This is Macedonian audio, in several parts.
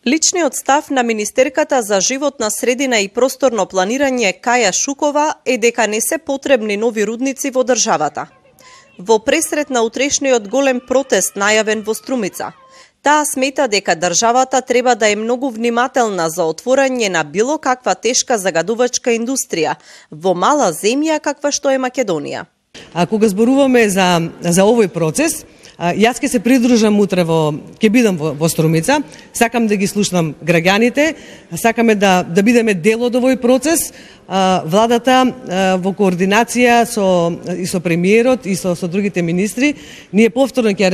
Личниот став на министерката за животна средина и просторно планирање Каја Шукова е дека не се потребни нови рудници во државата. Во пресрет на утрешниот голем протест најавен во Струмица, таа смета дека државата треба да е многу внимателна за отворање на било каква тешка загадувачка индустрија во мала земја каква што е Македонија. А кога зборуваме за овој процес, јас ќе се придружам утре ќе бидам во Струмица, сакам да ги слушнам граѓаните, сакаме да бидеме дел од овој процес. Владата во координација со премиерот и со другите министри, ние повторно ќе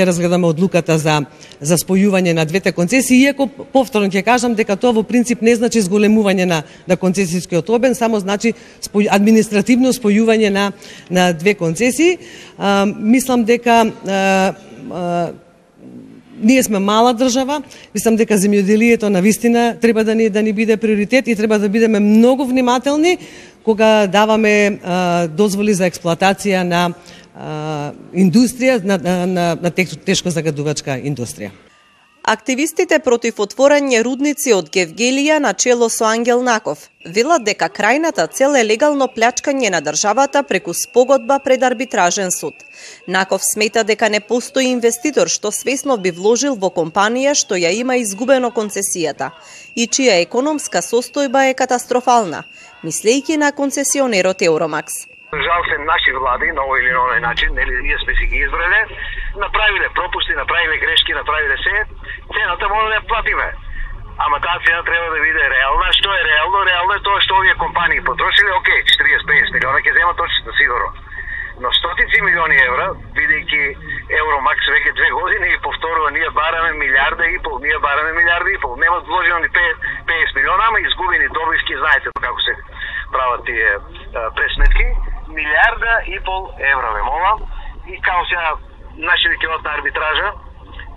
разгледаме одлуката за спојување на двете концесии, иако повторно ќе кажам дека тоа во принцип не значи зголемување на концесискиот обем, само значи административно спојување на две концесии. Мислам дека ние сме мала држава, мислам дека земјоделието навистина треба да ни биде приоритет и треба да бидеме многу внимателни кога даваме дозволи за експлоатација на индустрија, на тешко загадувачка индустрија. Активистите против отворање рудници од Гевгелија на чело со Ангел Наков велат дека крајната цел е легално плячкање на државата преку спогодба пред арбитражен суд. Наков смета дека не постои инвеститор што свесно би вложил во компанија што ја има изгубено концесијата и чија економска состојба е катастрофална, мислејќи на концесионерот Евромакс. Жал се наши влади на овој или на оној начин, нели ние сме си ги избрале, направиле пропусти, направиле грешки, направиле се, цената може да ја платиме. Ама таа цена треба да биде реална. Што е реално? Реално е тоа што овие компании потрошиле, окей, 40-50 милиона ќе земат точно сигурно. Но стотици милиони евра, бидејќи Евромакс веќе 2 години и повторува, ние бараме милиарда и пол, нема вложено ни 50 милиона, ама изгубени добивки, знаете како се прават тие пресметки, милиарда и пол евра, ве молам, и као сега нашите ќе одат на арбитража.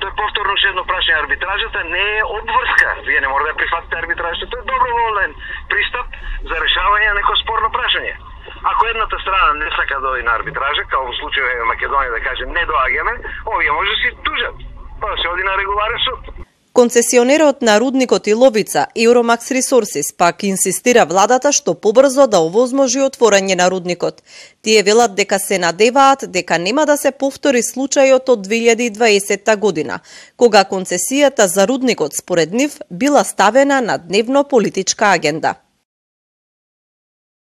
Тој повторно ше едно прашање, арбитражата не е обврска. Вие не може да прифатите арбитражата, тој е доброволен пристап за решавање на некој спорно прашање. Ако едната страна не сака да оди на арбитража, како во случајот на Македонија да каже не доаѓаме, овие може да си тужат, па да се оди на регуларен суд. Концесионерот на рудникот Иловица, Евромакс Ресурсис, пак инсистира владата што побрзо да овозможи отворање на рудникот. Тие велат дека се надеваат дека нема да се повтори случајот од 2020 година, кога концесијата за рудникот според нив била ставена на дневно политичка агенда.